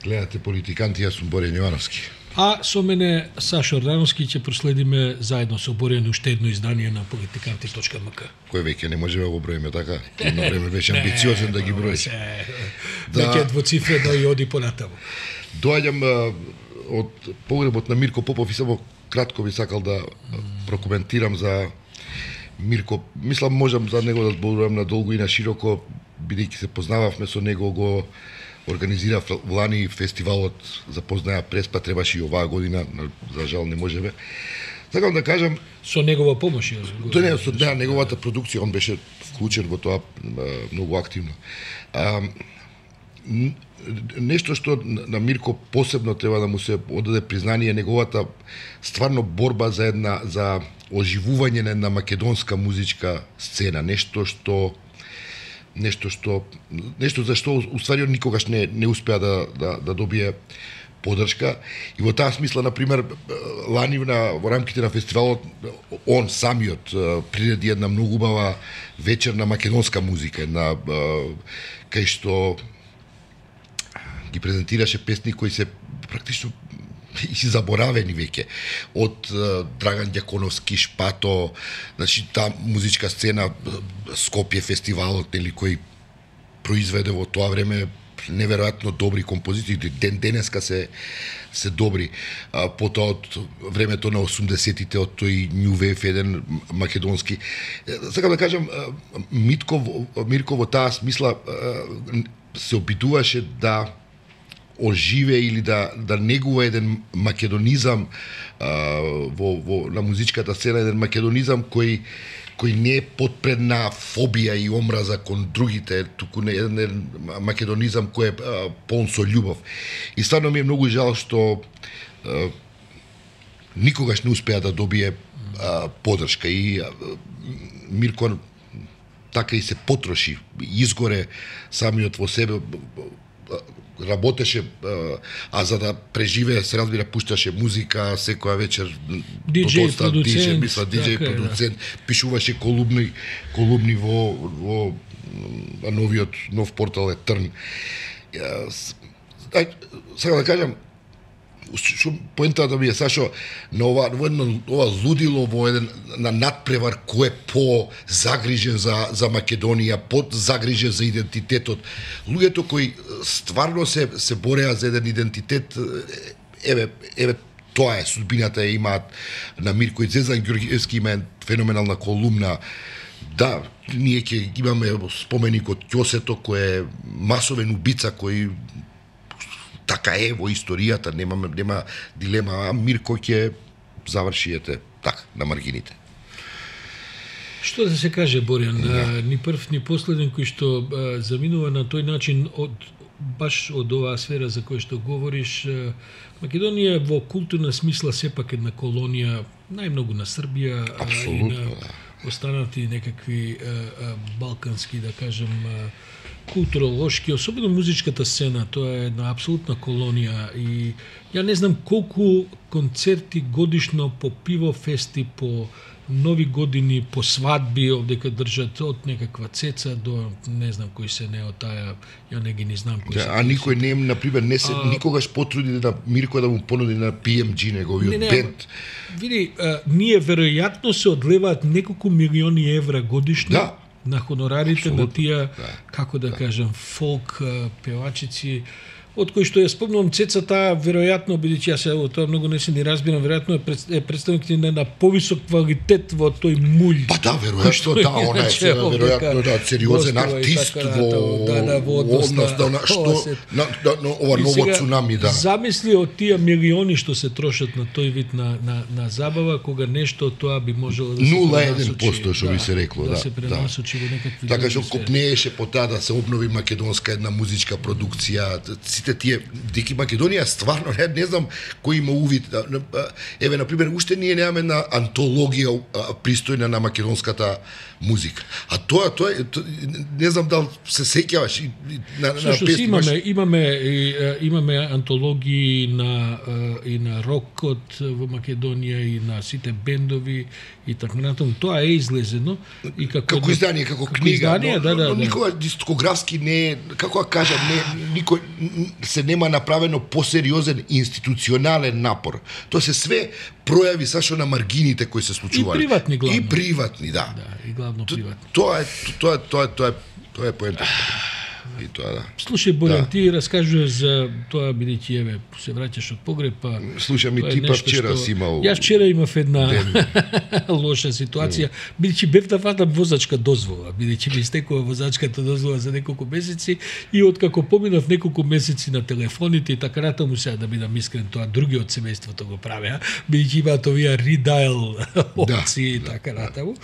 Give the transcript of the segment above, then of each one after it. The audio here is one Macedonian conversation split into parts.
Гледате политиканти, јас сум Борјан Јовановски. А со мене Сашо Ордановски ќе проследиме заедно со Борјан уште едно издание на politikanti.mk. Кој веќе не можеме да го броиме така? Едно време беше амбициозен да ги брои. Веќе двоцифрено и оди понатаму. Доаѓам од погребот на Мирко Попов и само кратко би сакал да прокоментирам за Мирко. Мислам можам за него да зборувам надолго и на широко, бидејќи се познававме со него, го организира лани фестивалот Запознаја Преспа, требаше и оваа година, за жал не можеме. Сакам да кажам со негова помош, тоа не со неговата продукција, он беше вклучен во тоа многу активно. Нешто што на Мирко посебно треба да му се одаде признание, неговата стварно борба за оживување на една македонска музичка сцена, нешто за што уствари он никогаш не успеа да добие поддршка. И во таа смисла, например, лани во рамките на фестивалот, он самиот приреди една многу убава вечер на македонска музика, кај што ги презентираше песни кои се практично и си заборавени веќе, од Драган Ѓаконовски, Шпато, значи таа музичка сцена, Скопје фестивалот, нели, кој произведе во тоа време неверојатно добри композиции, денеска се добри. Потоа од времето на 80-тите, од тој New Wave, еден македонски. Сакам да кажам, Мирко во таа смисла се обидуваше да оживе или да негува еден македонизам на музичката сцена, еден македонизам кој не е подпредна фобија и омраза кон другите, туку еден македонизам кој е полн со љубов. И стварно ми е многу жал што никогаш не успеа да добие поддршка. И Мирко така и се потроши, изгоре самиот во себе, работеше, а за да преживее, се разбира, пушташе музика секоја вечер, диџеј продуцент, пишуваше колумни во нов портал е Трн. Сега да кажам, што поентата ми е, Сашо, на ова лудило во еден на надпревар кој е по-загрижен за Македонија, по-загрижен за идентитетот. Луѓето кои стварно се бореа за еден идентитет, еве тоа е судбината имаат на Мирко. И Зезан Ѓорѓевски има феноменална колумна. Да, ние ќе имаме споменикот Ќосето, кој е масовен убица, кој така е во историјата, нема дилема, а Мирко ќе заврши така на маргините. Што да се каже, Борјан, ни прв ни последен кој што заминува на тој начин баш од оваа сфера за која што говориш. Македонија во културна смисла сепак една колонија, најмногу на Србија и на останати некакви балкански, да кажем, културолошки, особено музичката сцена, тоа е една апсолутна колонија и ја не знам колку концерти годишно по пиво фести, по нови години, по свадби овдека држат од некаква цеца до не знам кои се не од таа, ја не ги не знам кои се. А никој не на пример не се никогаш потруди на Мирко да му понуди на PMG неговиот бенд. Види, ние веројатно се одлеваат неколку милиони евра годишно на хонорарите на тие, како да кажам, фолк певачици, од кои што ја спомнувам цецата, веројатно, бидејќи јас тоа многу не се ни разбирам, веројатно е представник на повисок квалитет во тој мулј. Па да, веројатно, да, она е веројатно сериозен артист во однос на ова ново цунами, да. Замисли од тие милиони што се трошат на тој вид на забава, кога нешто тоа би можело да се 0,1% што би се рекло, да. Да се пренасочи во некакви. Така што копнееше по таа да се обнови македонска една музичка продукција. Сите тие деки Македонија стварно не знам кој има увид. Еве на пример уште ние немаме една антологија пристојна на македонската музика. А тоа не знам дали се сеќаваш на песни. Имаме антологии и на рокот во Македонија и на сите бендови и така натаму. Тоа е излезено и како издание, како книга, но никога дискографски не, како да кажам, не никој се нема направено посериозен институционален напор. Тоа се све пројави сашо на маргините кои се случувале. И приватни главно. И приватни, да. Да, и главно приватни. Тоа е поентата. И тоа да. Слушај, Борјан, ти раскажуваш за тоа, бидејќи еве се враќаш од погреб, па слушам и ти па вчера си имал. Јас вчера имав една лоша ситуација, бидејќи бев да фатам возачка дозвола, бидејќи ми истекува возачката дозвола за неколку месеци и откако поминав неколку месеци на телефоните и така натаму, сега да бидам искрен, тоа други од семејството го правеа, бидејќи имаат овие редайл опции и така натаму.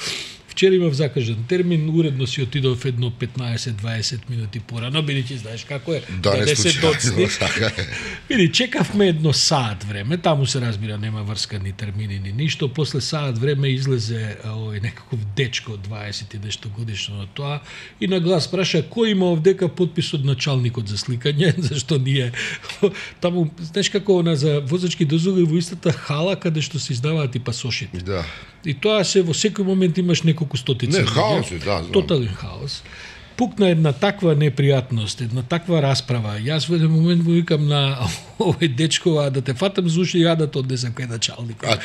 Вчера имав закажан термин, уредно си отидов едно 15-20 минути порано, бидејќи знаеш како е, да се доцни. Види, чекавме едно саат време, таму се разбира нема врска ни термини ни ништо, после саат време излезе овој некаков дечко 20 и нешто годишно на тоа и на глас праша кој има овдека подпис од началникот за сликање, зашто ние таму, знаеш како она за возачки дозволи во истата хала каде што се издаваат и пасошите. Да. И тоа се во секој момент имаш неколку стотици. Не, хаос е, да. Тотален хаос. Пукна една таква непријатност, една таква расправа. Јас во еден момент му викам на овој дечко, да те фатам за уши, ја да те однесам кај началникот. А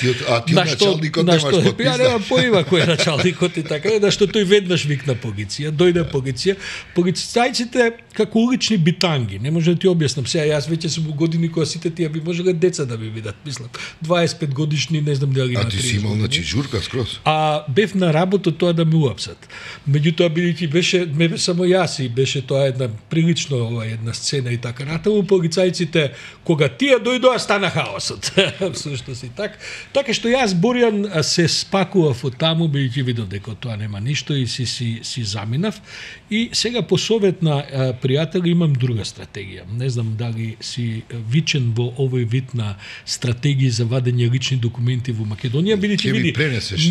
ти началникот немаш подпис. Ја немам поима кој е началникот и така, да што тој веднаш викна полиција, дојде полиција. Полицајците како улични битанги, не може да ти објаснам. Сега јас веќе сум во години кога сите тие би можеле деца да ми видат, мислам. 25 годишни, не знам дали на 30. А ти си имал значи журка скроз. А бев на работа тоа да ме уапсат. Меѓутоа бидејќи беше само јас и беше тоа една прилично една сцена и така натаму, полицајците кога тие дојдоа стана хаосот. Всушност и така што јас Борјан се спакував од таму, бидејќи видов дека тоа нема ништо и си заминав. И сега по совет на пријатели имам друга стратегија. Не знам дали си вичен во овој вид на стратегии за вадење лични документи во Македонија, бидејќи види,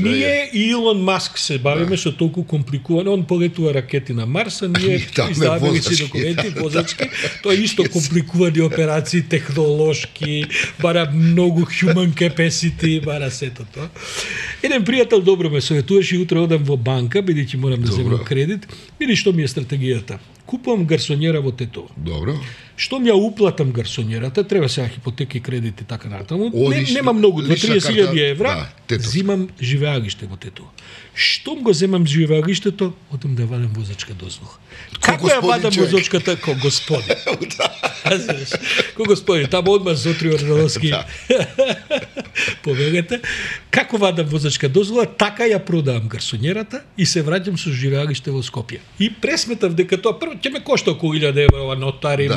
ние и Илон Маск се бавиме со толку компликувано, он полетува ракети на Марс, а ние издаваме лични документи возачки. Тоа е исто компликувани операции, технолошки, бара многу human capacity, бара сето тоа. Еден пријател добро ме советуваше и утре одам во банка, бидејќи морам да земам кредит. Види што ми е стратегијата. Купувам гарсонјера во Тетово. Добро. Штом ја уплатам гарсонјерата, треба сега хипотеки, кредити така натаму. Нема многу, 2-30.000 евра. Да, зимам живеалиште во Тетово. Штом го земам живеалиштето, одам да вадам возачка дозвола. Како ја вадам возачката? Ко господин. Ко господин, таму одма Зотри Ордановски повелете. Како вадам возачка дозвола, така ја продавам гарсонјерата и се враќам со живеалиште во Скопје. И пресметав дека тоа прво ќе ме кошта околу 1000 евра, нотари,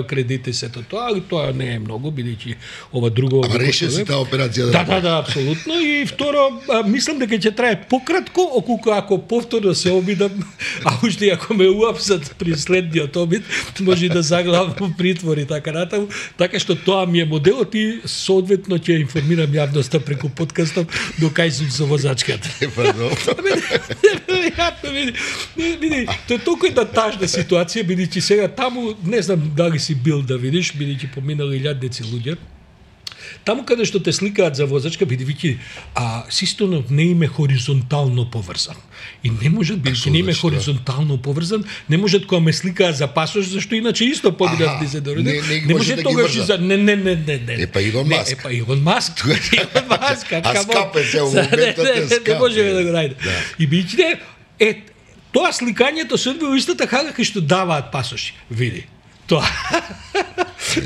кредити, сето тоа, али тоа не е многу, бидејќи ова друго... Ама реше си таа операција да... Да, апсолутно. И второ, мислам дека ќе трае пократко, околку ако повторно се обидам, а уште ако ме уапсат при следниот обид, може да заглавам во притвор и така натаму. Така што тоа ми е моделот и соодветно ќе информирам јавноста преку подкастов до кај сум со возачката. Види, тоа е толку една тажна ситуација, бидејќи сега таму, не знам дали си бил да видиш, бидејќи поминали илјадници луѓе. Таму каде што те сликаат за возачка, бидејќи системот не им е хоризонтално поврзан. И не можат, бидејќи не им е хоризонтално поврзан, не можат кога ме сликаат за пасош, зашто иначе исто побидат да се дореде. Не може тогаш за не. Епа Илон Маск. Епа Илон Маск. А скапе се во моментот е скапе. Не може да го ради. И бидејќи тоа сликањето се одвива истата хага кај што даваат пасоши. Види. Тоа.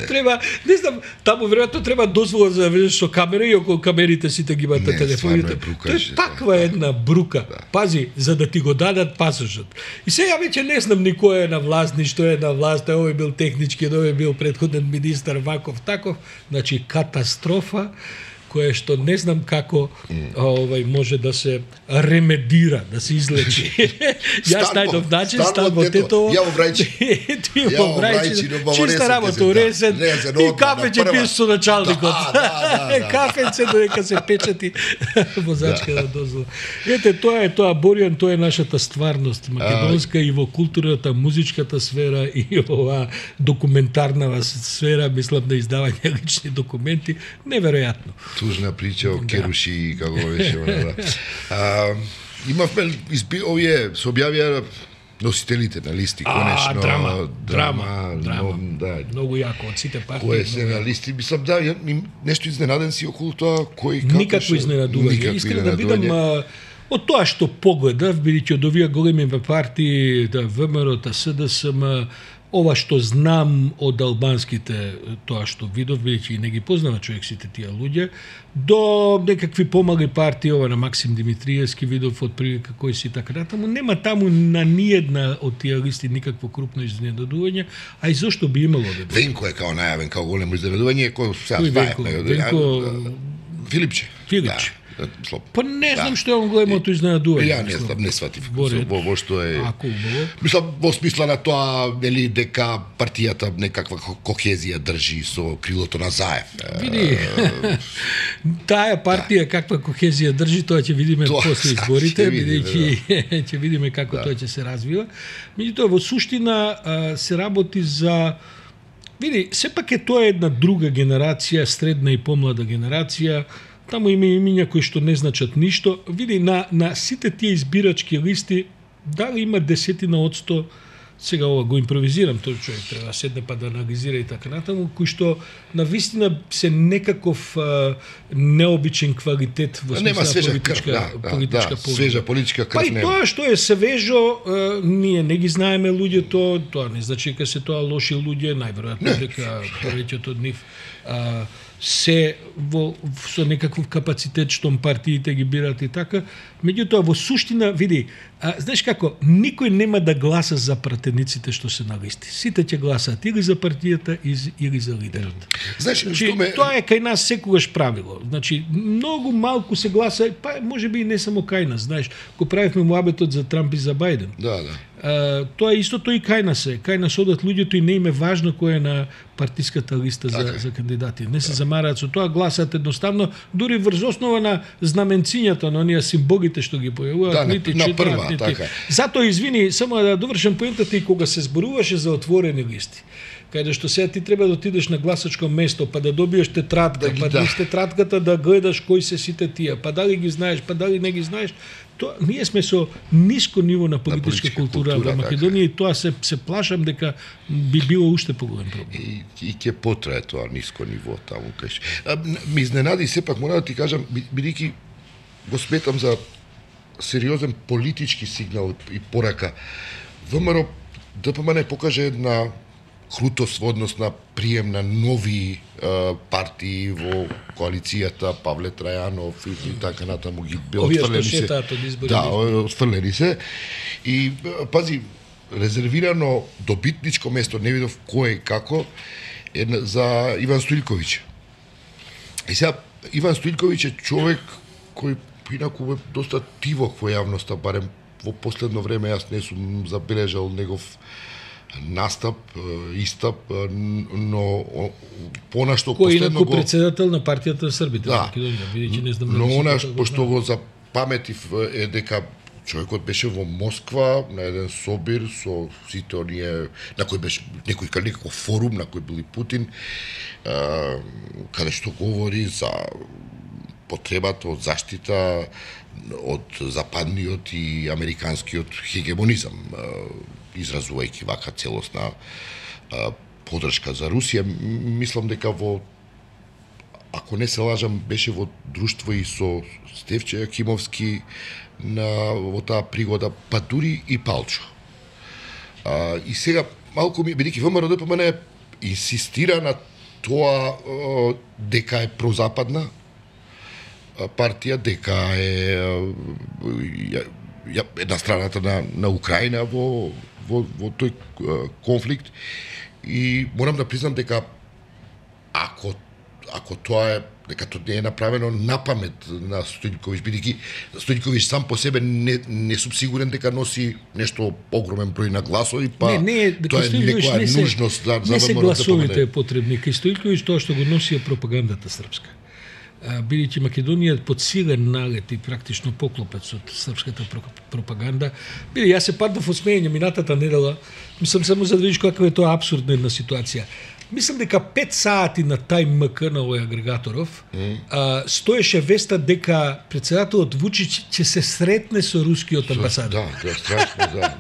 Треба, не знам, таму веројатно треба дозвола за да влезеш со камера и околу камерите сите ги имаат телефоните. Тоа е таква една брука. Пази, за да ти го дадат пасошот. И сега веќе не знам ни кој е на власт, ни што е на власт, овој бил технички, овој бил претходен министар ваков таков, значи катастрофа кое што не знам како може да се ремедира, да се излечи. Јас најдов начин, стан во Тетово. Ја во Брајчи. Ти во Брајчи. Чиста работа, уресен. И кафе ќе пиеш со началникот. Кафенце додека се печати возачка на дозвола. Ете, тоа е тоа, Борјан, тоа е нашата стварност македонска и во културата, музичката сфера и ова документарна сфера, мислам на издавање лични документи, неверојатно. Тужна прича о Керуши, како беше. Имавме, овие се објавија носителите на листи, конечно. Драма. Да. Многу јако од сите партии. Кој се на листи, мислам, да, нешто изненаден си околу тоа, кој како никакво изненадување. Искрено да бидам од тоа што погледав, бидејќи од овие големи партии, да ВМРО, СДСМ, ова што знам од албанските, тоа што видов, бидејќи не ги познава човек сите тие луѓе, до некакви помали партии, ова на Максим Димитриевски видов од прилика кој си така натаму, нема таму на ниедна од тие листи никакво крупно изненадување, а и зошто би имало да биде? Венко е као најавен као големо изненадување, кој сега Филипче. Да. Па не знам што е он големото изненадување. Ја не сватив во што е. Убаво. Мислам во смисла на тоа нели дека партијата некаква кохезија држи со крилото на Заев. Види. Таа партија каква кохезија држи, тоа ќе видиме после изборите, бидејќи ќе видиме како тоа ќе се развива. Меѓутоа во суштина се работи за види, сепак е тоа една друга генерација, средна и помлада генерација. Таму има имиња кои што не значат ништо. Види, на сите тие избирачки листи, дали има 10%, сега ова го импровизирам, тој човек треба да седне па да анализира и така натаму, кои што на вистина се некаков необичен квалитет во смисла политичка свежа политичка крв. Па и тоа што е свежо, ние не ги знаеме луѓето, тоа не значи дека се тоа лоши луѓе, најверојатно дека повеќето од нив се со некаков капацитет што партиите ги бират и така. Меѓутоа во суштина, види, знаеш како, никој нема да гласа за пратениците што се на листи. Сите ќе гласаат или за партијата или за лидерот. Знаеш, што тоа е кај нас секогаш правило. Значи, многу малку се гласа, па можеби и не само кај нас, знаеш, кога правивме муабетот за Трамп и за Бајден. Да. Тоа е истото и кај нас е. Кај нас одат луѓето и не им е важно кој е на партиската листа за кандидати. Не се замараат со тоа, гласаат едноставно, дури врз основа на знаменцињата, на оние символите што ги појавуваат, нити читаат, нити. Затоа извини, само да довршам поентата, и кога се зборуваше за отворени листи, каде што сега ти треба да отидеш на гласачко место, па да добиеш тетрадка, па низ тетрадката да гледаш кои се сите тие, па дали ги знаеш, па дали не ги знаеш. Тоа, ние сме со ниско ниво на политичка култура во Македонија и тоа се плашам дека би било уште поголем проблем. И ќе потрае тоа ниско ниво таму кај. Ми изненади сепак, мора да ти кажам, бидејќи го сметам за сериозен политички сигнал и порака. ВМРО ДПМН покаже една крутост во однос на прием на нови партии во коалицијата, Павле Трајанов и така натаму ги отфрлени се. Да, отфрлени се. И пази, резервирано добитничко место, не видов кој и како, е за Иван Стоилковиќ. И сега Иван Стоилковиќ е човек кој инаку е доста тивок во јавноста, барем во последно време јас не сум забележал негов настап, истап, но понашто последно го председател на партијата на Србите во Македонија, бидејќи не знам. Но она пошто го запаметив е дека човекот беше во Москва на еден собир со сите оние на кој беше некој форум на кој бил и Путин, каде што говори за потребата од заштита од западниот и американскиот хегемонизам, изразувајќи вака целосна поддршка за Русија. Мислам дека ако не се лажам, беше во друштво и со Стефче Јакимовски во таа пригода, па дури и Палчо. И сега малку ми, бидејќи ВМРО ДПМН инсистира на тоа дека е прозападна партија, дека е една страната на Украина во тој конфликт, и морам да признам дека ако тоа е, дека тоа не е направено напамет на Стоилковиќ, бидејќи Стоилковиќ сам по себе не сум сигурен дека носи нешто огромен број на гласови, па тоа е некоја нужност за не се гласовите потребни. Кај Стоилковиќ тоа што го носи е пропагандата српска. Бидејќи Македонија е под силен налет и практично поклопец од српската пропаганда. Јас се паднав од смеење минатата недела, мислам само за да видиш каква е тоа апсурдна една ситуација. мислам дека 5 сати на тај МК на овој агрегаторов стоеше веста дека председателот Вучич ќе се сретне со рускиот амбасадор. Да, тоа е страшно, да.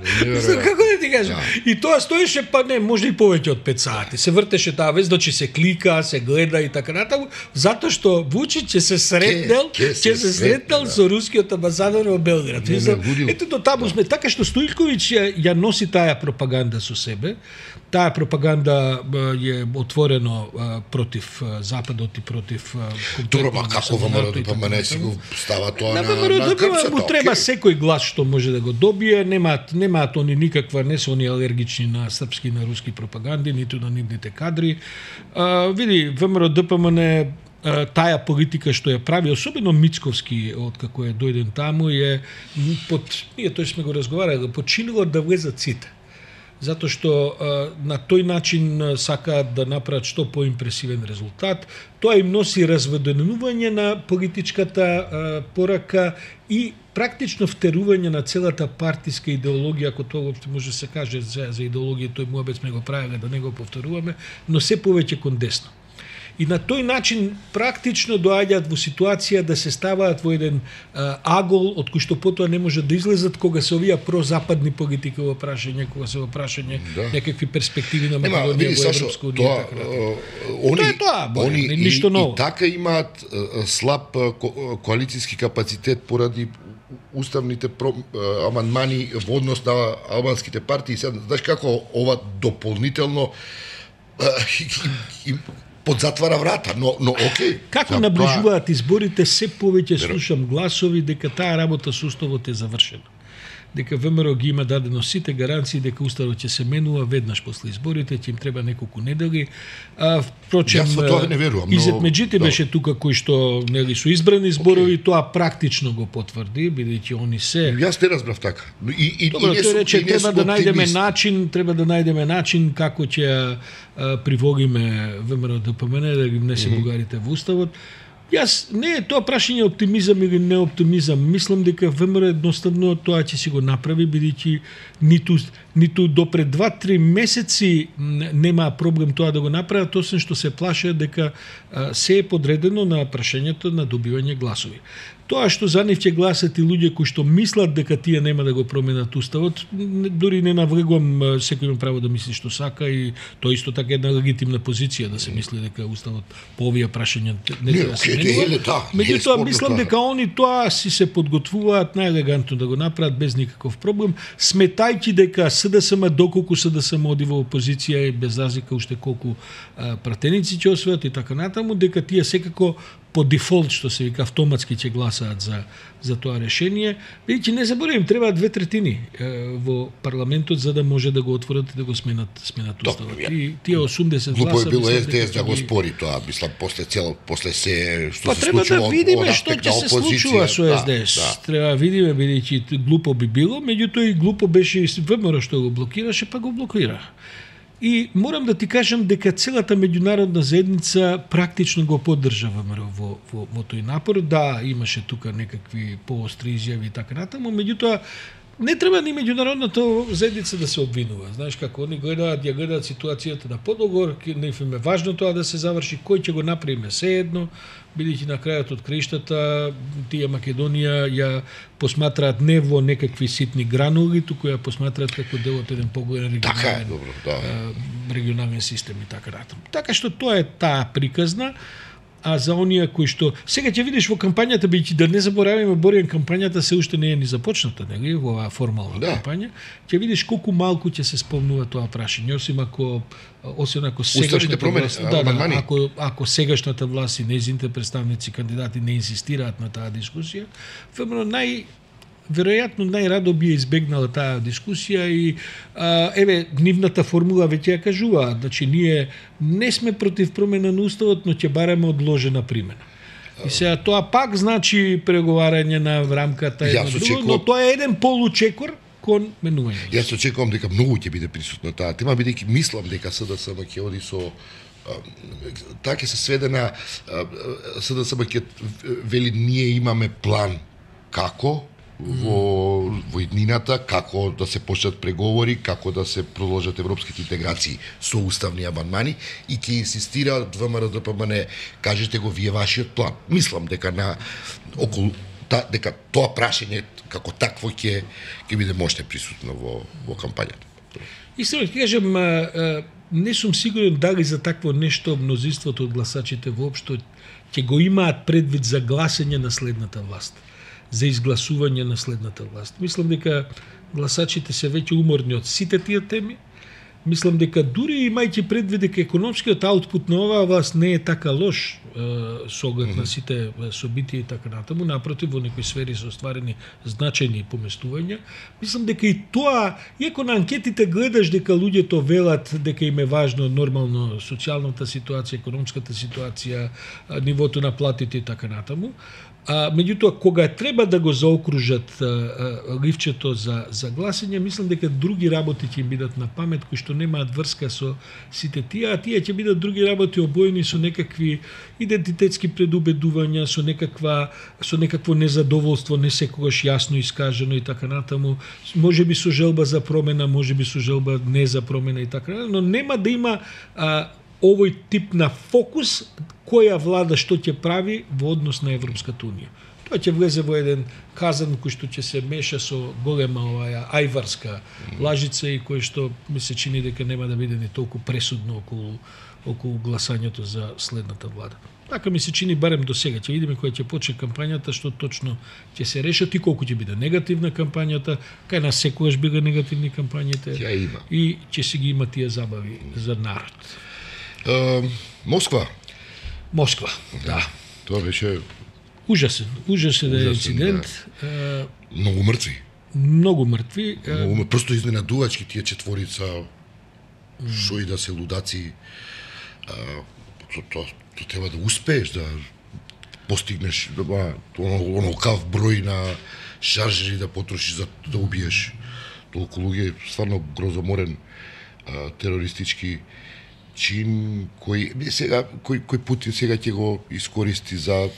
Како да ти кажам? И тоа стоеше па не, може и повеќе од 5 сати. Се вртеше таа вест, значи се клика, се гледа и така натаму, затоа што Вучич ќе се сретнел со рускиот амбасадор во Белград. Ето до таму сме, така што Стоилковиќ ја носи таа пропаганда со себе. Таа пропаганда е отворено против Западот и против Добро, ма како ВМРО не си го става тоа на крпсата? Му треба секој глас што може да го добие, немаат они никаква, не се они алергични на српски и на руски пропаганди, ниту на нивните кадри. Види, ВМРО-ДПМН таа политика што ја прави, особено Мицковски, откако е дојден таму, е ние тој сме го разговарали, починило да влезат сите. Затоа што на тој начин сакаат да направат што поимпресивен резултат. Тоа им носи разведенување на политичката порака и практично втерување на целата партиска идеологија, ако тоа воопшто може да се каже за идеологија, тој муабет сме го правеле, да не го повторуваме, но се повеќе кон десно. И на тој начин практично доаѓаат во ситуација да се ставаат во еден агол од кој што потоа не може да излезат кога се овие прозападни политики во прашање, кога се во прашање некакви перспективи на Македонија во Европска унија. Они ништо ново. И така имаат слаб коалициски капацитет поради уставните амандмани во однос на албанските партии. Знаеш како ова дополнително подзатвара врата, но окей. Како наближуваат изборите, се повеќе слушам гласови дека таа работа со уставот е завршена. Дека ВМРО ги има дадено сите гаранции дека уставот ќе се менува веднаш после изборите, ќе им треба неколку недели. Впрочем, јас во тоа не верувам. Изет Меджити беше тука кој што нели со избрани зборови, тоа практично го потврди, бидејќи они се. Јас не разбрав така. Добро, тој рече треба да најдеме начин како ќе привогиме ВМРО-ДПМН да ги внесе бугарите во уставот. Јас не е тоа прашање оптимизам или не оптимизам. Мислам дека ВМРО едноставно тоа ќе си го направи, бидејќи ниту до пред 2-3 месеци нема проблем тоа да го направат, освен што се плашат дека се е подредено на прашањето на добивање гласови. Тоа што за нив ќе гласат и луѓе кои што мислат дека тие нема да го променат уставот, дури не навлегувам, секој има право да мисли што сака и тоа исто така една легитимна позиција да се мисли дека уставот по овие прашања не треба да се менува. Меѓутоа мислам дека они тоа си се подготвуваат најелегантно да го направат без никаков проблем, сметајќи дека СДСМ доколку СДСМ оди во опозиција и без разлика уште колку пратеници ќе освојат и така натаму, дека тие секако по дефолт, што се вика, автоматски ќе гласаат за тоа решение. Бидејќи не заборавам, требаат 2/3 во парламентот за да може да го отворат и да го сменат уставот. И тие 80 гласа. Глупо е било СДС да го спори тоа, мислам после се што се случува. Треба да видиме што ќе се случува со СДС. Треба да видиме, бидејќи глупо би било, меѓутоа и глупо беше и ВМРО што го блокираше, па го блокира. И морам да ти кажам дека целата меѓународна заедница практично го поддржа ВМРО во тој напор. Да, имаше тука некакви поостри изјави и така натаму, меѓутоа не треба ни меѓународната заедница да се обвинува. Знаеш како они гледаат ситуацијата на подогор, не им е важно тоа да се заврши, кој ќе го направиме се едно, бидејќи на крајот од краиштата тие Македонија ја посматраат не во некакви ситни гранули, туку ја посматраат како дел од еден поголем регионален систем и така натаму. Така што тоа е таа приказна. А за оние кои што сега ќе видиш во кампањата, бидејќи да не забораваме, Боријан, кампањата се уште не е ни започната, нели, во оваа формална кампања, ќе видиш колку малку ќе се спомнува тоа прашање, освен ако сегашната власт, ако сегашната власт и нејзините представници кандидати не инсистираат на таа дискусија, веројатно најрадо би избегнала таа дискусија и нивната формула веќе ја кажуваат. Значи ние не сме против промена на уставот, но ќе бараме одложена примена. И сега тоа пак значи преговарање на рамката но тоа е еден получекор кон менување. Јас очекувам дека многу ќе биде присутна таа тема, бидејќи мислам дека СДСМ ќе оди со таа ќе се сведе на СДСМ ќе вели ние имаме план како во иднината, како да се почнат преговори, како да се продолжат европските интеграции со уставни амандмани и ќе инсистира ВМРО ДПМН, кажете го вие вашиот план. Мислам дека дека тоа прашање како такво ќе биде мощно присутно во кампањата. Истина ќе кажам, не сум сигурен дали за такво нешто мнозинството од гласачите воопшто ќе го имаат предвид за гласање на следната власт, за изгласување на следната власт. Мислам дека гласачите се веќе уморни од сите тие теми. Мислам дека дури имајќи предвид дека економскиот аутпут на оваа власт не е така лош со оглед на сите собитија и така натаму, напротив, во некои сфери се остварени значајни поместувања. Мислам дека и тоа, иако на анкетите гледаш дека луѓето велат дека им е важно нормално социјалната ситуација, економската ситуација, нивото на платите и така натаму, меѓутоа, кога треба да го заокружат ливчето за гласање, мислам дека други работи ќе им бидат на памет, кои што немаат врска со сите тие, а тие ќе бидат други работи обоени со некакви идентитетски предубедувања, со некакво незадоволство, не секогаш јасно искажено и така натаму, можеби со желба за промена, можеби со желба не за промена и така натаму, но нема да има овој тип на фокус која влада што ќе прави во однос на Европската унија. Тоа ќе влезе во еден казан кој што ќе се меша со голема оваа ајварска лажица и кој што ми се чини дека нема да биде ни толку пресудно околу гласањето за следната влада. Така ми се чини барем до сега. Ќе видиме која ќе почне кампањата, што точно ќе се решат и колку ќе биде негативна кампањата, кај нас секогаш бига негативни кампањите. И ќе се ги има тие забави за народ. Москва, да. Тоа беше ужасен инцидент. Да. Многу мртви. Просто изненадувачки тие четворица, шо и да се лудаци. Тоа треба да успееш да постигнеш онакав број на шаржери да потрошиш за да убиеш толку луѓе, стварно грозоморен терористички чин кој Путин сега ќе го искористи за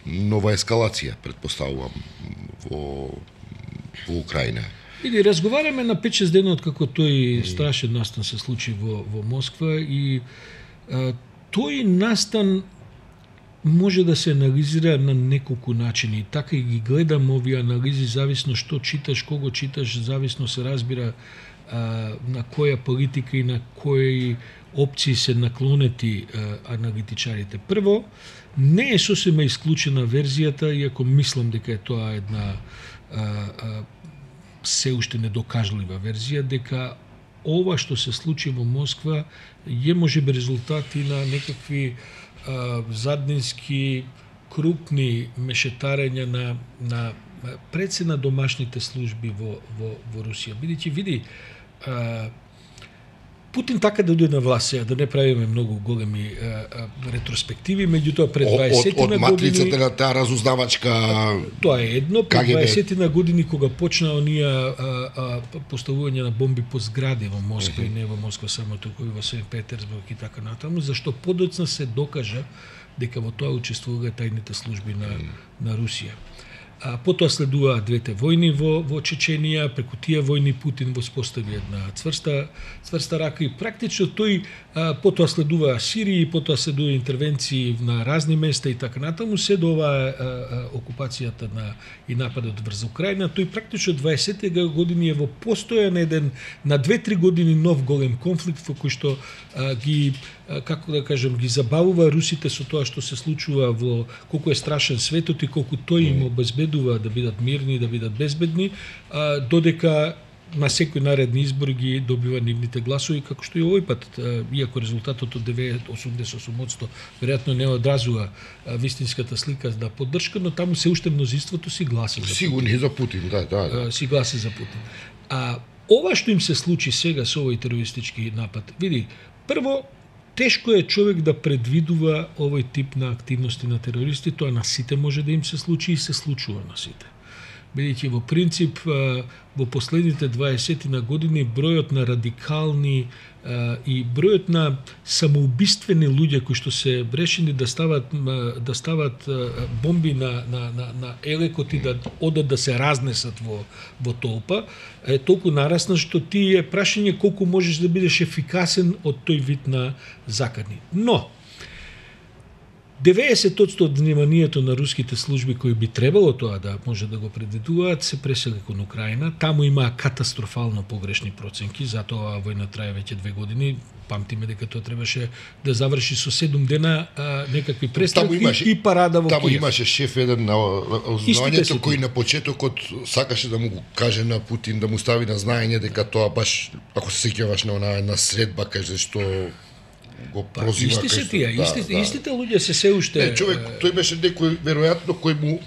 нова ескалација, предпоставувам, во Украина. Иди, разговараме на 5-6 дена од како тој страшен настан се случи во Москва и тој настан може да се анализира на неколку начини. Така и ги гледам овие анализи, зависно што читаш, кого читаш, зависно се разбира на која политика и на кои опции се наклонети аналитичарите. Прво, не е сосема исклучена верзијата, иако мислам дека е тоа една се уште недокажлива верзија, дека ова што се случи во Москва е можеби резултати на некакви заднински крупни мешетарења на пред се на домашните служби во Русија. Бидејќи види, Путин така да дојде на власт сега, да не правиме многу големи ретроспективи, меѓутоа пред 20 на години... Од матрицата на таа разузнавачка... Тоа е едно, пред 20 на години кога почна оние поставување на бомби по згради во Москва и не во Москва само, туку и во Сен Петерсбург и така натаму, зашто подоцна се докажа дека во тоа учествуваа тајните служби на Русија. Потоа следуваа двете војни во Чеченија, преку тие војни Путин воспостави една цврста рака и практично тој потоа следуваа Сирија, потоа следува интервенции на разни места и така натаму, се до оваа окупацијата и нападот врз Украина, тој практично 20 години е во постојан еден на 2-3 години нов голем конфликт во кој што ги како да кажем, ги забавува русите со тоа што се случува во колку е страшен светот и колку тој им обезбедува да бидат мирни, да бидат безбедни, додека на секој наредни избори ги добива нивните гласови, како што и овој пат, иако резултатот од 88% веројатно не одразува вистинската слика на поддршка, но таму се уште мнозинството си гласа за Путин. Сигурни за Путин, да. Си гласа за Путин. Ова што им се случи сега со овој терористички напад, види, прво, тешко е човек да предвидува овој тип на активности на терористи, тоа на сите може да им се случи и се случува на сите. бидејќи во принцип во последните 20 на години бројот на радикални и бројот на самоубиствени луѓе кои што се решени да стават бомби на елекот и да одат да се разнесат во толпа е толку нарасна што ти е прашање колку можеш да бидеш ефикасен од тој вид на закани. Но 90% од вниманието на руските служби кои би требало тоа да може да го предвидуваат се пресели кон Украина. Таму има катастрофално погрешни проценки, затоа војна трае веќе 2 години. Памтиме дека тоа требаше да заврши со 7 дена некакви престрелки и парада во Киев. Таму имаше шеф еден на знаењето кој на почетокот сакаше да му го каже на Путин, да му стави на знаење дека тоа баш, ако се сеќаваш на онаа една средба, каже што го прозива. Исти се тие, истите луѓе се уште... Човек, тој беше некој, веројатно, кој му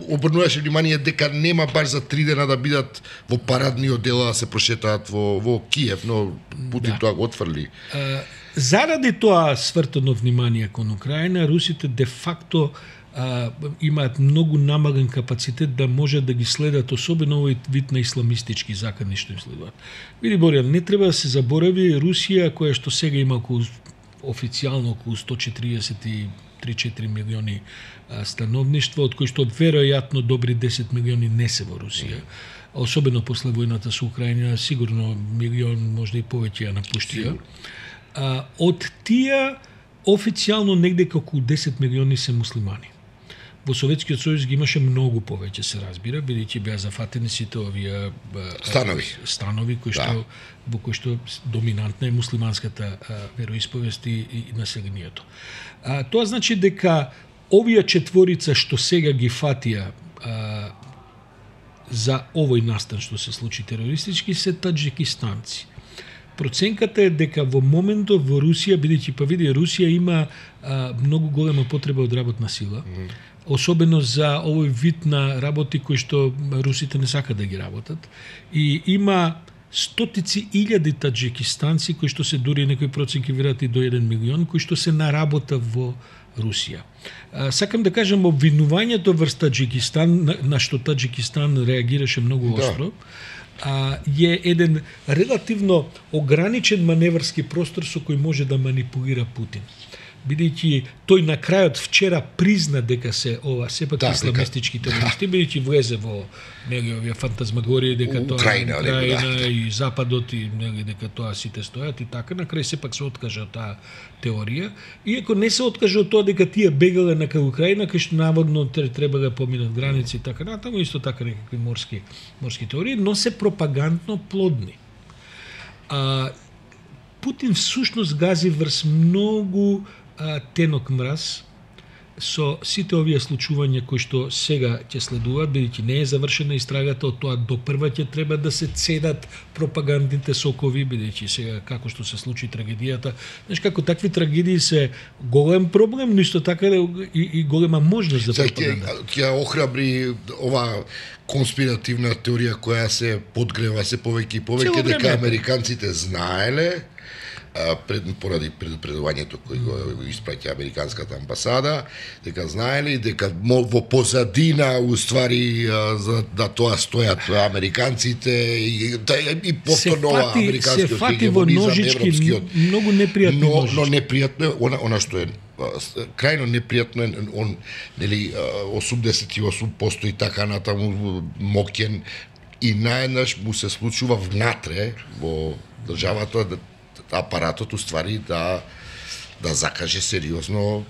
обрнуваше внимание дека нема баш за 3 дена да бидат во парадниот дел да се прошетаат во Киев, но Путин тоа го отфрли. Заради тоа свртено внимание кон Украина, русите де факто имаат многу намален капацитет да може да ги следат, особено овој вид на исламистички закани што им следуваат. Види, Боријан, не треба да се заборави Русија, која што сега има околу официјално околу 143-4 милиони становништво, од кои што веројатно добри 10 милиони не се во Русија. Особено после војната со Украина, сигурно милион, можда и повеќе ја напуштија. Од тие официјално негде околу 10 милиони се муслимани. Во Советскиот сојуз ги имаше многу повеќе, се разбира, бидејќи беа зафатени сите овие станови кои што во кои што доминантна е муслиманската вероисповест и населението. Тоа значи дека овие четворица што сега ги фатија за овој настан што се случи терористички се таџикистанци. Проценката е дека во моментот во Русија, бидејќи па види, Русија има многу голема потреба од работна сила, особено за овој вид на работи кои што русите не сакат да ги работат, и има стотици илјади таџикистанци кои што се дури некои проценки веројатно до 1 милион кои што се на работа во Русија. Сакам да кажам, обвинувањето врз Таџикистан, на што Таџикистан реагираше многу остро, е еден релативно ограничен маневрски простор со кој може да манипулира Путин. Бидејќи тој на крајот вчера призна дека се сепак исламистички терористи, бидејќи влезе во овие фантазмагории дека тоа Украина и Западот и дека тоа сите стојат и така, на крај сепак се откажа од таа теорија. Иако не се откажа од тоа дека тие бегале на кај Украина, кај што наводно треба да поминат граници и така натаму, исто така некакви морски теории, но се пропагандно плодни. Путин всушност гази врз многу тенок мраз со сите овие случувања кои што сега ќе следуваат, бидејќи не е завршена истрагата, од тоа до прва ќе треба да се цедат пропагандните сокови, бидејќи сега како што се случи трагедијата, знаеш како такви трагедии се голем проблем, но исто така и голема можност за пропаганда. Ќе охрабри ова конспиративна теорија која се подгрева се повеќе и повеќе дека американците знаеле поради предупредувањето кој го испраќа американската амбасада, дека знаеле дека во позадина уствари за да тоа стојат американците и повторно американскиот хегемонизам, европскиот. Многу непријатно. Но непријатно е она што е крајно непријатно е он, нели, 88% и така натаму моќен и наеднаш му се случува внатре во државата апаратот уствари да закаже сериозно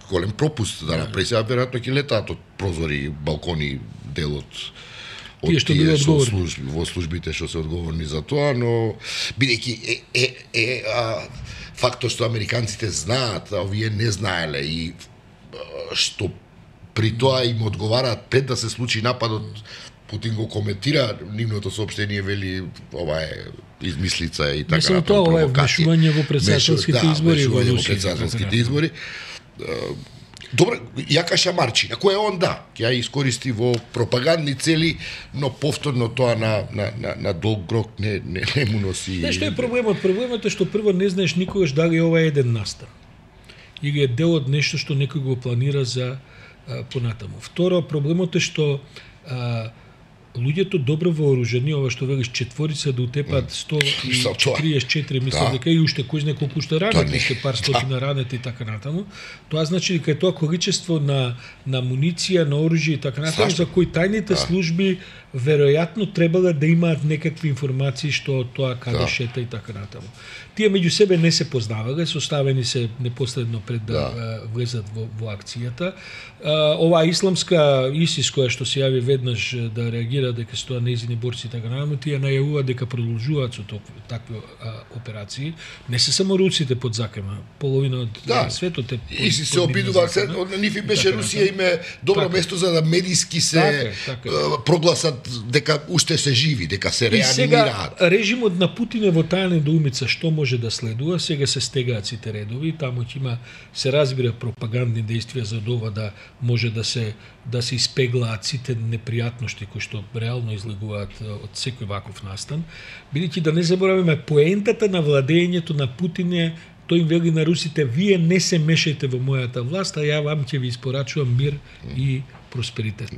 голем пропуст да направи. Сега веројатно ќе летаат од прозори, балкони, делот од тие што во службите што се одговорни за тоа, но бидејќи фактот што американците знаат, а овие не знаеле и што при тоа им одговараат пред да се случи нападот. Путин го коментира нивното соопштение, вели ова е измислица и така натаму. Тоа ова е вмешување во претседателските избори во Русија. Добре, јака шамарчина, кој е он ќе ја искористи во пропагандни цели, но повторно тоа на долг рок не му носи. Што е проблемот? Проблемот е што прво не знаеш никогаш дали ова е еден настан. Или е дел од нешто што некој го планира за понатаму. Второ, проблемот е што луѓето добро вооружени, ова што велиш четворица да утепат 144, мислам дека и уште кој знае колку што ранети, уште пар стотина ранети и така натаму. Тоа значи дека е тоа количество на муниција, на оружје и така натаму, за кои тајните служби веројатно требало да имаат некакви информации што тоа каде шета и така натаму. Тие меѓу себе не се познавале, составени се непосредно пред да влезат во акцијата. Оваа исламска ИСИС која што се јави веднаш да реагира дека се тоа нејзини борци и така натаму, тие најавуваат дека продолжуваат со такви операции. Не се само руците под закема, половина од светот е ИСИС се обидува, нив им беше Русија име добро место за да медиски се прогласат дека уште се живи, дека се реанимираат. И сега режимот на Путин е во таа недоумица што може да следува, сега се стегаат сите редови, таму ќе има, се разбира, пропагандни действија за ова да може да се испеглаат сите непријатности кои што реално излегуваат од секој ваков настан. Бидејќи да не забораваме, поентата на владењето на Путин е, тој им вели на русите, вие не се мешајте во мојата власт, а ја вам ќе ви испорачувам мир и просперитет.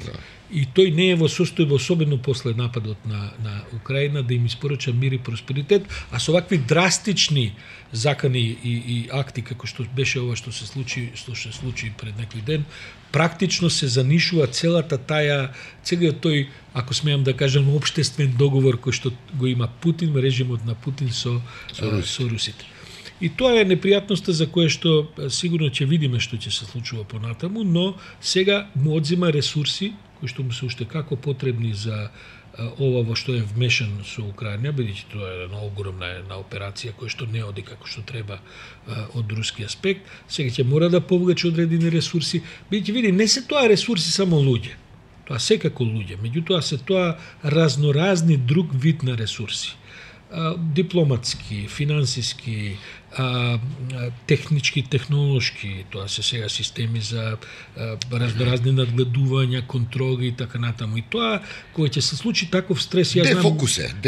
И тој не е во состојба, особено после нападот на Украина, да им испорача мир и просперитет, а со вакви драстични закани и акти како што беше ова што се случи пред некој ден, практично се занишува целиот тој, ако смеам да кажам, општествен договор кој што го има Путин, режимот на Путин со русите. И тоа е непријатноста за кое што сигурно ќе видиме што ќе се случува понатаму, но сега му одзема ресурси кои што му се уште како потребни за ова во што е вмешан со Украина, бидејќи тоа е една огромна операција која што не оди како што треба од руски аспект. Сега ќе мора да повлече одредени ресурси, бидејќи види, не се тоа ресурси само луѓе. Тоа секако луѓе, меѓутоа се тоа разноразни друг вид на ресурси. Дипломатски, финансиски, технички, технолошки, тоа се сега системи за разноразни надгледувања, контроли и така натаму. И тоа, кога ќе се случи таков стрес, ја знам,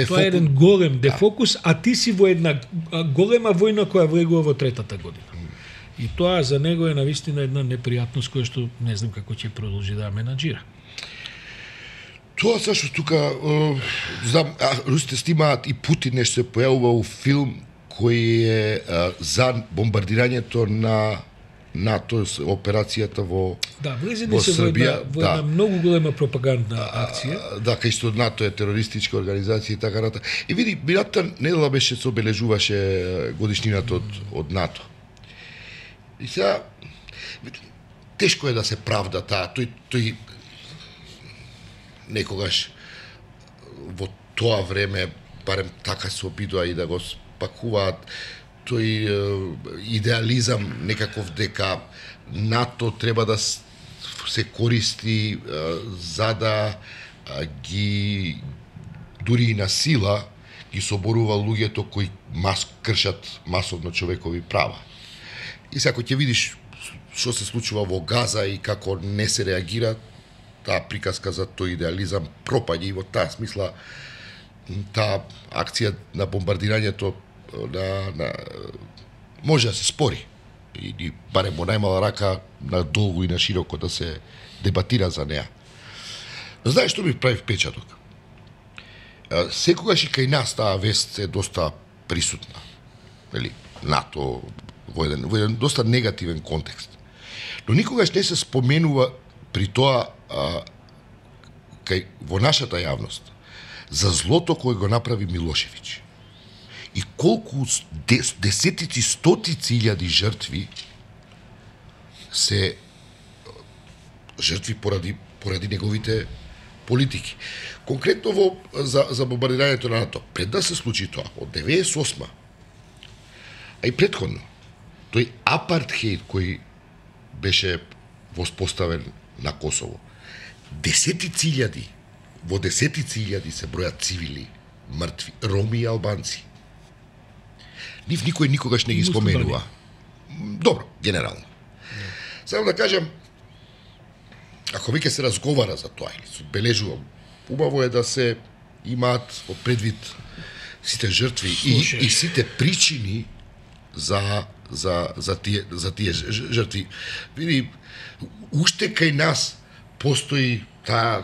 тоа е еден голем дефокус, а ти си во една голема војна која влегува во третата година. И тоа за него е навистина една непријатност која што не знам како ќе продолжи да менаџира. Тоа сашто тука, знам, русите снимаат и Путин нешто се појавува у филм кој е за бомбардирањето на НАТО, операцијата во влезени се во една многу голема пропагандна акција. Кај што НАТО е терористичка организација и така натаму. И види, минатата недела беше се обележуваше годишнината од НАТО. И сега тешко е да се правда таа, тој некогаш во тоа време, барем така се обидува и да го спакуваат, тој идеализам некаков дека НАТО треба да се користи за да ги дури и на сила ги соборува луѓето кои кршат масовно човекови права. И сега ќе видиш што се случува во Газа и како не се реагира, таа приказка за тој идеализам пропаѓа и во таа смисла таа акција на бомбардирањето може да се спори и барем во најмала рака на долго и на широко да се дебатира за неа. Но знаеш што ми прави впечаток? Секогаш и кај нас таа вест е доста присутна. Нели, НАТО во еден доста негативен контекст. Но никогаш не се споменува при тоа во нашата јавност за злото кој го направи Милошевиќ. И колку десетици, стотици илјади жртви се жртви поради неговите политики. Конкретно за бомбардирањето на НАТО, пред да се случи тоа, од 98-ма, а и претходно, тој апартхеид кој беше воспоставен на Косово, во десетици илјади се бројат цивили, мртви, роми и албанци. Нив никој никогаш не ги споменува. Добро, генерално. Само да кажам, ако веќе се разговара за тоа или се одбележува, убаво е да се имаат во предвид сите жртви и сите причини за за тие жртви. Види, уште кај нас постои таа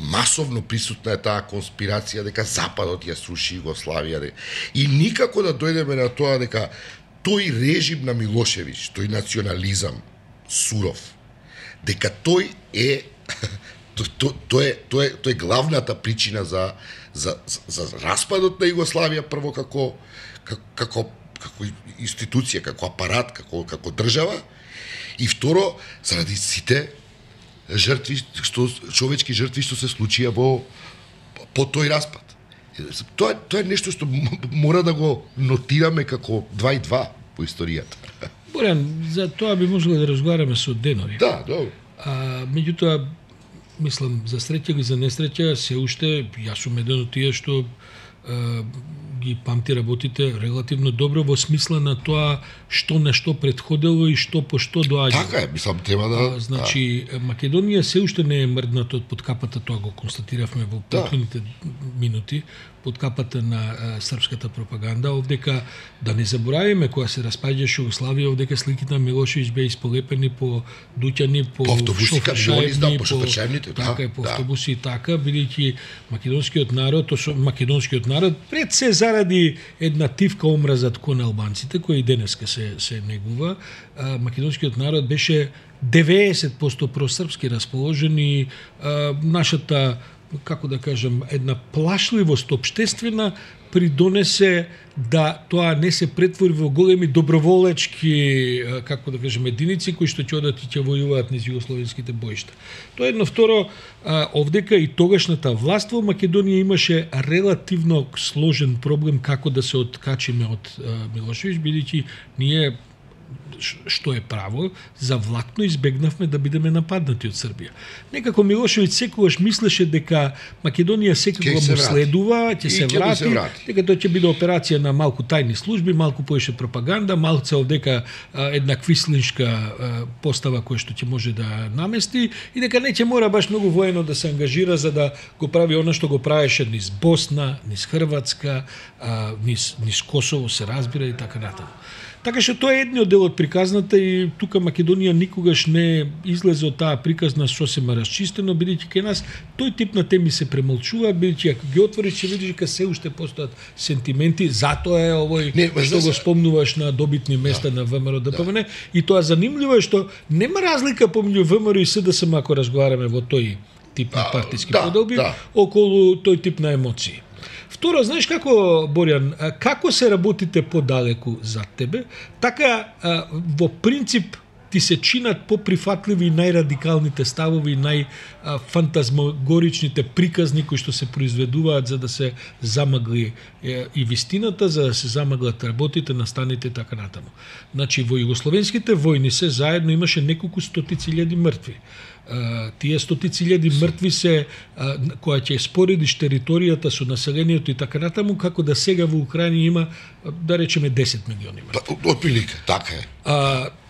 масовно присутна е таа конспирација дека Западот ја сруши Југославија и никако да дојдеме на тоа дека тој режим на Милошевиќ, тој национализам суров, дека тој е тој е главната причина за распадот на Југославија, прво како институција, како апарат, како држава, и второ заради сите жртви, човечки жртви што се случија по тој распад. Тоа е нешто што мора да го нотираме како 2 и 2 по историјата. Борјан, за тоа би можело да разговараме со денови. Да, добро. Меѓутоа, мислам, за среќа и за несреќа, се уште, јас сум еден од тие што ги памти работите релативно добро во смисла на тоа што нешто претходело и што по што доаѓа. Така е, мислам, треба да... Значи, Македонија се уште не е мрдната од подкапата, тоа го констатиравме во претходните минути, под капата на српската пропаганда, овдека да не заборавиме кога се распаѓаше Југославија, овдека сликите на Милошевиќ беа исполепени по дуќани, по шофершајбните, така по автобуси и така, бидејќи македонскиот народ пред се заради една тивка омразат кон албанците, која и денеска се негува, македонскиот народ беше 90% просрпски расположен и нашата, како да кажем, една плашливост општествена придонесе да тоа не се претвори во големи доброволечки, како да кажем, единици кои што ќе одат и ќе војуваат низ југословенските боишта. Тоа едно. Второ, овдека и тогашната власт во Македонија имаше релативно сложен проблем како да се откачиме од Милошевиќ, бидејќи ние, што е право, завлатно избегнавме да бидеме нападнати од Србија. Некако Милошевиќ секогаш мислеше дека Македонија секако му следува, ќе се врати, дека тоа ќе биде операција на малку тајни служби, малку поише пропаганда, малце овдека една квислиншка постава која што ќе може да намести и дека не ќе мора баш многу воено да се ангажира за да го прави она што го правеше низ Босна, низ Хрватска, низ Косово, се разбира и така натаму. Така што тоа е едниот дел од приказната и тука Македонија никогаш не излезе од таа приказна сосема расчистено, бидејќи кај нас тој тип на теми се премолчува, бидејќи ако ги отвориш ќе видиш дека се уште постојат сентименти, затоа е овој што го спомнуваш на добитни места на ВМРО ДПМН и тоа занимливо е што нема разлика помеѓу ВМРО и СДСМ ако разговараме во тој тип на партиски поделби околу тој тип на емоции. Второ, знаеш како, Борјан, како се работите подалеку за тебе, така во принцип ти се чинат поприфатливи и најрадикалните ставови, најфантазмогоричните приказни кои што се произведуваат за да се замагли и вистината, за да се замаглат работите, настаните и така натаму. Значи, во југословенските војни се заедно имаше неколку стотици илјади мртви. Тие стотици илјади мртви се која ќе споредиш територијата со населението и така натаму, како да сега во Украина има, да речеме, 10 милиони мртви. Отприлика, така е.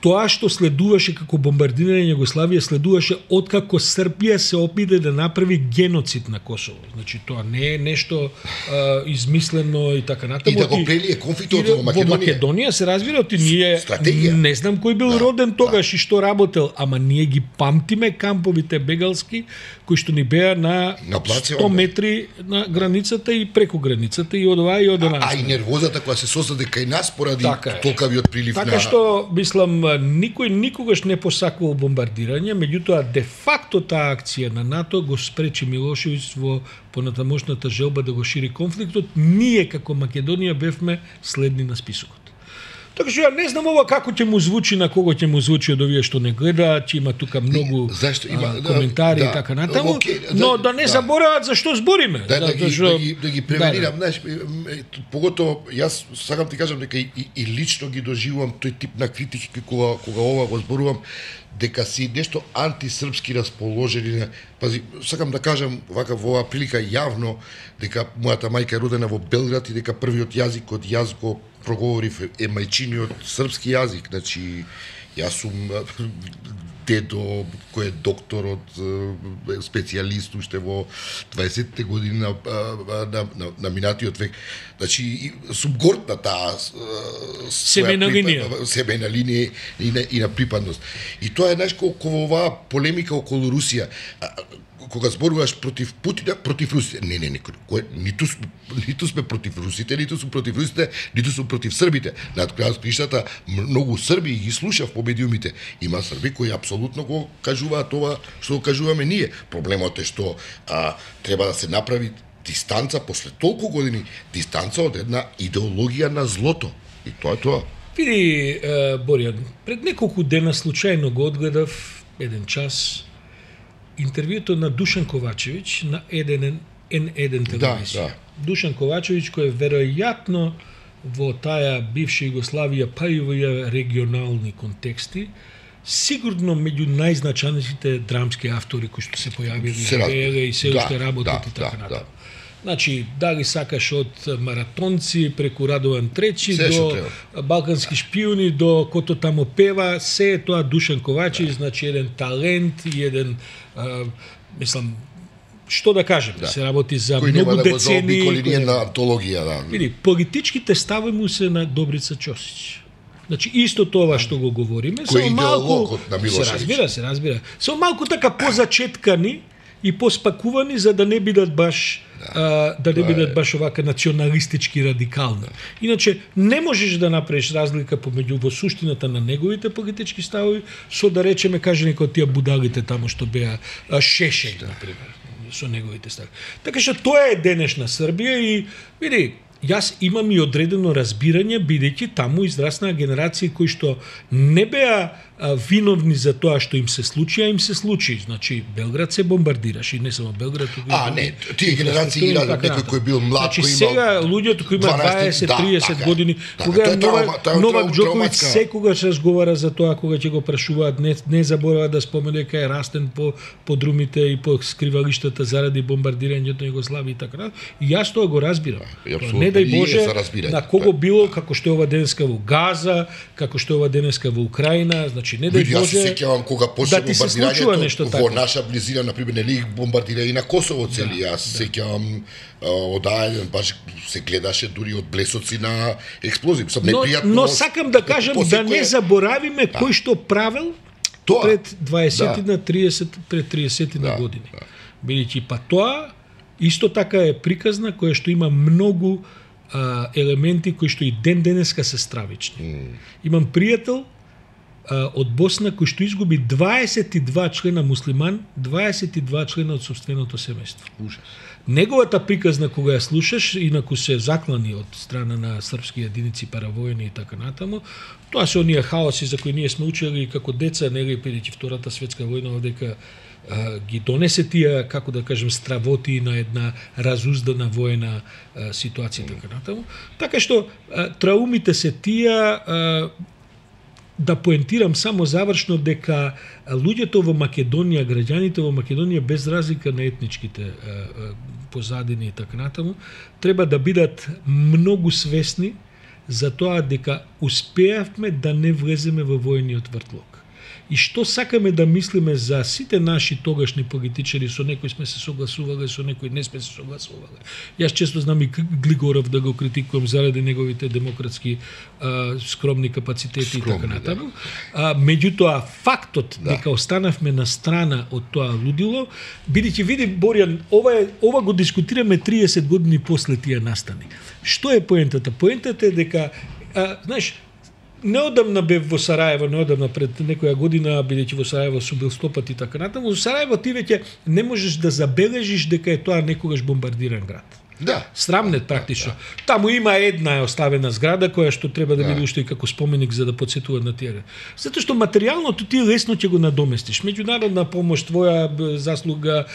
Тоа што следуваше како бомбардирање на Југославија следуваше откако Србија се опиде да направи геноцид на Косово. Значи тоа не е нешто измислено и така натаму. И да го прелие конфликтот во Македонија. Во Македонија се разбира оти ние не знам кој бил роден тогаш и што работел, ама ние ги памтиме камповите бегалски кои што ни беа на 100 метри на границата и преку границата и од оваа и од онаа. А и нервозата која се создаде кај нас поради толкавиот прилив на... Така што, мислам, никој никогаш не посакувал бомбардирање, меѓутоа де факто таа акција на НАТО го спречи Милошевиќ во понатамошната желба да го шири конфликтот. Ние како Македонија бевме следни на списокот. Така што ја не знам ова како ќе му звучи, на кого ќе му звучи од овие што не гледаат, ќе има тука многу коментари и така натаму, но да не заборават за што збориме. Да ги превенирам, знаеш, поготово јас сакам ти кажам дека и лично ги доживувам тој тип на критики кога ова го зборувам, дека си нешто антисрпски расположени. Пази, сакам да кажам вака во оваа прилика јавно дека мојата мајка е родена во Белград и дека првиот јазик од јас го проговорив е мајчиниот српски јазик, значи Јас сум дедо кој е доктор од специјалист уште во 20-те години на минатиот век. Значи сум горд на таа семејна линија и на припадност. И тоа е нешто кога оваа полемика околу Русија, кога зборуваш против Путина, против русите. Не, ниту сме против русите, ниту сум против русите, ниту сум против србите. На крајот криштата многу срби ги слушав по медиумите. Има срби кои апсолутно го кажуваат тоа што го кажуваме ние. Проблемот е што треба да се направи дистанца после толку години, дистанца од една идеологија на злото. И тоа е тоа. Види, Боријан, пред неколку дена случајно го одгледав еден час интервјуто на Душан Ковачевиќ на N1 телевизија. Да. Душан Ковачевиќ кој е веројатно во таа бивша Југославија, па и во регионални контексти, сигурно меѓу најзначајните драмски автори кои што се појавиле и се уште работат и така натаму. Значи, дали сакаш од маратонци, преку Радован Тречи, до балкански шпиони, до кото тамо пева, се е тоа Душан Ковачевиќ, значи еден талент и еден, мислам, што да кажем, се работи за кој многу да децени. Кој на антологија, да. Види, политичките стави му се на Добрица Ќосиќ. Значи, исто тоа што го говориме, кој идеологот на Милошевиќ. се разбира. Само малку така позачеткани и поспакувани за да не бидат баш баш овака националистички радикални. Иначе не можеш да направиш разлика помеѓу во суштината на неговите политички ставови со да речеме каже некои од тие будалите таму што беа Шешеј например со неговите ставови. Така што тоа е денешна Србија и види, јас имам и одредено разбирање бидејќи таму израснаа генерации кои што не беа виновни за тоа што им се случи, а им се случи. Значи, Белград се бомбардираше, и не само Белград. Не, тие генерации ги радат некој кој бил млад, значи, сега луѓето кои имаат 20-30 години, кога Новак Џоковиќ секогаш разговара за тоа, кога ќе го прашуваат, не заборава да спомене дека е растен по друмите и по скривалиштата заради бомбардирањето на Југославија и така. И јас тоа го разбирам. Не дај Боже на кого било, како што е ова денеска во Газа, како што е ова денеска во Украина, значи не дај Боже. Јас се сеќавам кога почна бомбардирањето во наша близина, на пример, нели бомбардира и на Косово цели. Јас се сеќавам од ајден баш се гледаше дури од блесоци на експлозии. Но сакам да кажам да не заборавиме кој што правел пред 20 на 30 пред 30 на години. Бидејќи па тоа исто така е приказна која што има многу елементи кои што и денеска се стравични. Имам пријател од Босна кој што изгуби 22 члена муслиман, 22 члена од сопственото семејство. Ужас. Неговата приказна кога ја слушаш, инаку се заклани од страна на српски единици, паравојни и така натаму, тоа се оние хаоси за кои ние сме учели како деца, нели бидејќи Втората светска војна одека ги донесе тие, како да кажем, стравоти на една разуздана воена ситуација така натаму. Така што траумите се тие. Да поентирам само завршно дека луѓето во Македонија, граѓаните во Македонија без разлика на етничките позадини и така натаму, треба да бидат многу свесни за тоа дека успеавме да не влеземе во војниот вртлок. И што сакаме да мислиме за сите наши тогашни политичари, со некои сме се согласувале, со некои не сме се согласувале. Јас често знам и Глигоров да го критикувам заради неговите демократски скромни капацитети и така натаму. Меѓутоа фактот дека останавме на страна од тоа лудило, бидејќи види Боријан, ова го дискутираме 30 години после тие настани. Што е поентата? Поентата е дека знаеш, неодамна бев во Сараево, неодамна пред некоја година, бидејќи во Сараево сум бил 100 пати така натаму, во Сараево ти веќе не можеш да забележиш дека е тоа некогаш бомбардиран град. Да. Срамнет практично. Таму има една оставена зграда која што треба да биде уште и како споменик за да потсетува на тие. Затоа што материјалното ти лесно ќе го надоместиш. Меѓународна помош, твоја заслуга,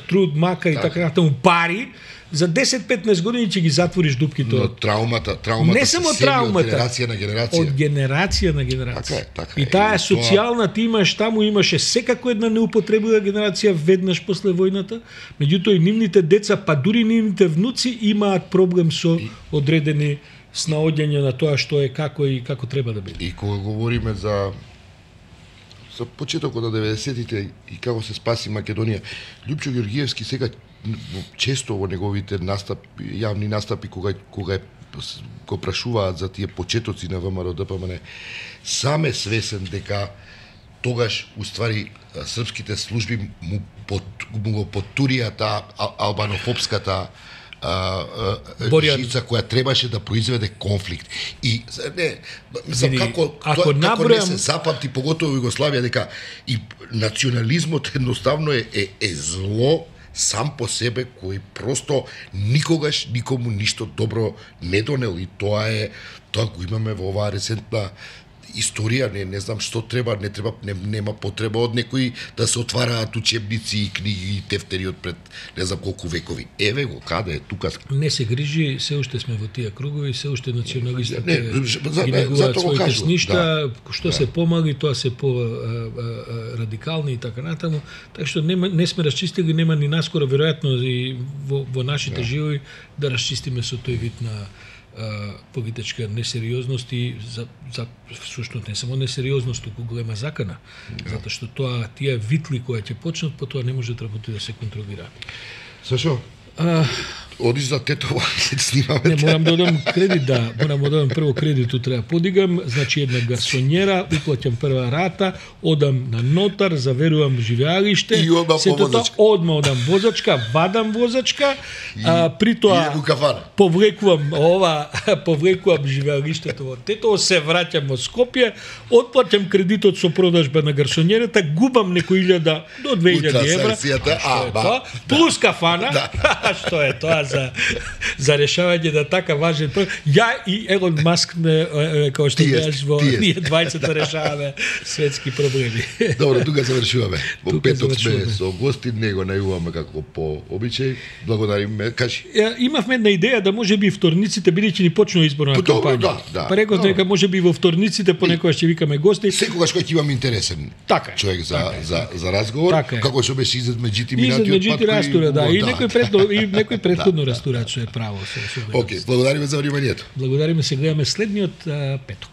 труд, мака и така натаму, пари, за 10-15 години ќе ги затвориш дупките. Но траумата не само траумата, од генерација на генерација. Од генерација на генерација. Така и таа социјална ти имаш таму, имаше секако една неупотребива генерација веднаш после војната, меѓутоа и нивните деца, па дури нивните внуци имаат проблем со одредени снаоѓања на тоа што е како и како треба да биде. И кога говориме за за почетокот на 90-тите и како се спаси Македонија. Лјупчо Ѓоргиевски сега често во неговите настапи, јавни настапи кога го прашуваат за тие почетоци на ВМРО ДПМН, сам е свесен дека тогаш уствари српските служби му го потурија таа албанофобската жица која требаше да произведе конфликт. И не, мислам, како не се запамти, поготово Југославија, дека и национализмот едноставно е зло сам по себе, кој просто никогаш никому ништо добро не донел, и тоа го имаме во оваа ресентна историја. Не знам што треба, нема потреба од некои да се отвараат учебници и книги и тефтери од пред не знам колку векови. Еве го, каде е тука. Не се грижи, се уште сме во тие кругови, се уште националистите ги негуваат своите сништа, што се помали, тоа се по радикални и така натаму. Така што не сме расчистили, нема ни наскоро веројатно и во нашите живои да расчистиме со тој вид на политичка несериозност и за всушност не само несериозност, туку голема закана. Затоа што тие витли кои ќе почнат, потоа не може да работи да се контролираат. Сашо, одиш за Тетово, се снимаме. Не, морам да одам кредит, морам да одам прво кредитот треба подигам, значи една гарсонјера, уплаќам прва рата, одам на нотар, заверувам живеалиште, и одма одам возачка, вадам возачка, при тоа повлекувам живеалиштето во Тетово, се враќам во Скопје, отплаќам кредитот со продажба на гарсонјерата, губам некои 1000 до 2000 евра, плюс кафана, што е тоа за решавање на така важен проблем. Ја и Елон Маск како што беаш во ние двајцата решаваме светски проблеми. Добро, тука завршуваме. Во петок сме со гости, него најуваме како по обичај. Благодариме, кажи. Имавме една идеја да можеби вторниците, бидејќи ни почнува изборна кампања. Па реков дека можеби во вторниците понекогаш ќе викаме гости. Секогаш кога ќе имам интересен човек за разговор, како што беше Изет Меджити минатиот пат. И некој претходно растурач е право. Океј, благодариме за вниманието. Благодариме, се гледаме следниот петок.